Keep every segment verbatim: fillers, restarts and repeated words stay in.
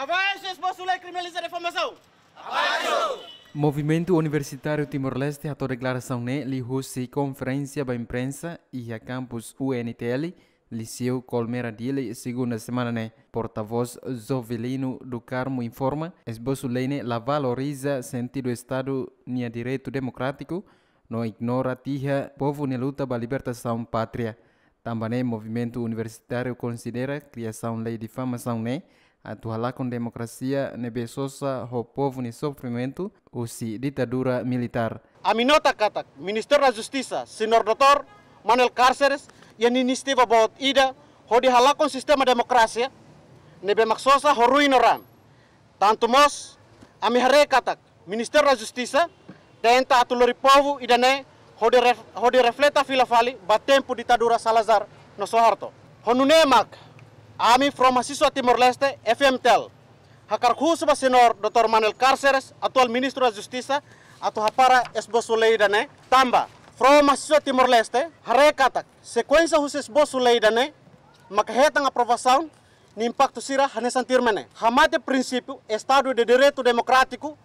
Abaixo esbosu lei kriminaliza difamasaun! Abaixo! Movimentu Universitáriu Timor-Leste hato'o deklarasaun ne'e liuhusi konferénsia ba imprensa iha kampus U N T L, Liseu Colmera Dili, segunda semana ne'e. Portavós Jovelino do Carmo informa, esbosu lei ne'e la valoriza sentidu Estadu nia direitu demokrátiku, no ignora tiha povu nia luta ba libertasaun pátria. Tanba ne'e, Movimentu Universitáriu konsidera kriasaun lei difamasaun ne'e atu halakon demokrasia ne'ebé sosa ho povu nia sofrimentu husi ditadura militár. Ami nota katak Ministru da Justisa, Señór doutór Manuel Cárceres, iha inisiativa boot ida hodi halakon sistema demokrasia ne'ebé mak sosa ho ruin no raan. Tantu mós, ami haree katak Ministru da Justisa tenta atu lori povu ida-ne'e hodi ref-, hodi refleta fila fali ba tempu ditadura Salazar no Suharto. Ho nune'e mak, ami Forum Mahasiswa Timor-Leste, F M T L, hakarak husu ba Señór doutór Manuel Cárceres, atuál Ministru da Justisa, atu hapara esbosu lei ida-ne'e. Tanba Forum Mahasiswa Timor-Leste haree katak sekuénsia husi esbosu lei ida-ne'e maka hetan aprovasaun, nia impaktu sira hanesan tuirmai ne'e: hamate prinsípiu Estadu de Direitu Demokrátiku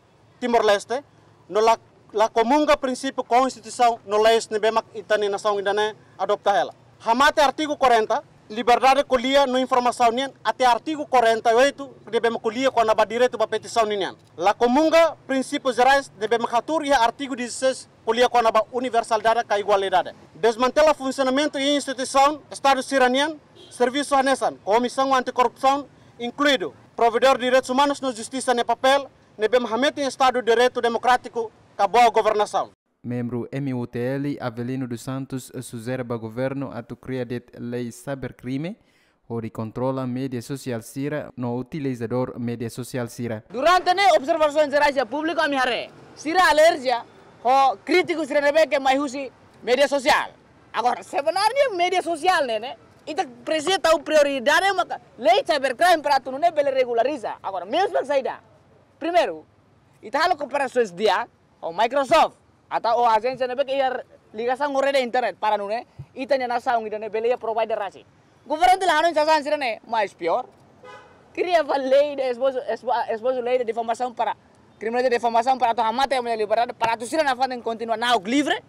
Timor-Leste, no la, la komunga prinsípiu Konstituisaun no leis ne'ebé mak ita-nia nasaun ida-ne'e adopta hela. Hamate artigu quarenta, liberdade ko'alia no informasaun nian, até artigu quarenta e oito, ne'ebé mak ko'alia kona-ba direitu ba petisaun ninian. La komunga prinsípius jerais ne'ebé mak hatuur iha artigu dezasseis, ko'alia kona-ba universalidade ka igualdade. Desmantela funsionamentu i instituisaun Estadu sira-nian servisu hanesan Komisaun Antikorrupsaun, inkluidu Provedór Direitus Umanus no Justisa nia papél, ne'ebé mak hametin Estadu Direitu Demokrátiku ka boa governasaun. Membru M U T L Avelino dos Santos sujere ba governu atu kria de'it lei cybercrime, hodi kontrola média sosiál sira no utilizadór média sosiál sira. Durante ne'e observasaun jerais iha públiku ami haree sira alerjia ho krítiku sira ne'ebé ke mai husi média sosiál. Agora, sebenarnya média sosiál ne'e, ne'e, ita presiza tau prioridade maka lei cybercrime para atu nune'e bele regulariza. Agora, mezmu saida? Primeiru, ita halo kooperasaun di'ak ho Microsoft, atau ho ajénsia ne'ebé ke iha ligasaun ho rede internet para nune'e ita-nia nasaun ida-ne'e bele iha provider rasik. Governu la hanoin sasán sira-ne'e, mais pior, kria fali lei de esbosu, esbo-, esbosu lei de difamasaun para, kriminaliza difamasaun para atu hamate ami-nia liberdade, para atu sira nafatin kontinua na'ok livre,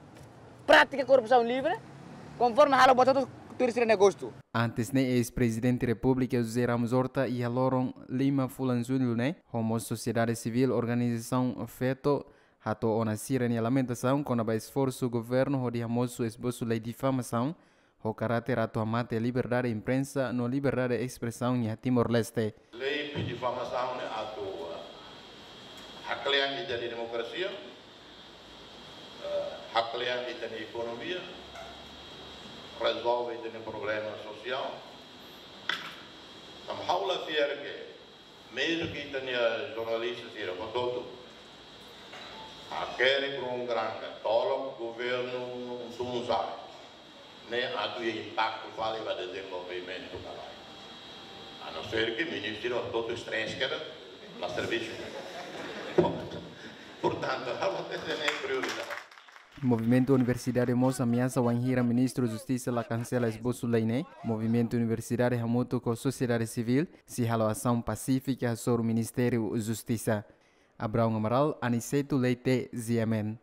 pratika korrupsaun livre, konforme halo buat hotu tuir sira-nia gostu. Antes ne'e, eis-Prezidente Repúblika José Ramos Horta iha loron lima fulan Jullu ne'e, ho mós sosiedade sivíl, organizasaun feto, hato'o ona sira-nia lamentasaun kona-ba esforsu governu hodi hamosu esbosu lei difamasaun, ho karáter atu hamate liberdade imprensa no liberdade espresaun iha Timor-Leste. Lei difamasaun ne'e atu, eh, haklean ita-nia demokrasia, eh, haklean ita-nia ekonomia, rezolve ita-nia problema sosiál. Tanba ha'u la fiar ke, mezmu ke ita-nia jornalista sira hotu-hotu hakerek ruma granga, tolok governu sunu sai, ne'e atu iha impaktu fali ba dezenvolvimentu ka lae. A não ser ke ministru hotu-hotu stress keda, la servisu. Portantu, ha'u hatete ne'e prioridade. Movimentu Universidade mós ameasa wainhira Ministru Justisa la kansela esbosu lei ne'e. Movimentu Universidade hamutuk ho sosiedade sivíl sei halo asaun pasífika hasoru Ministériu Justisa. Abraão Amaral, Aniceto Leite, G M N.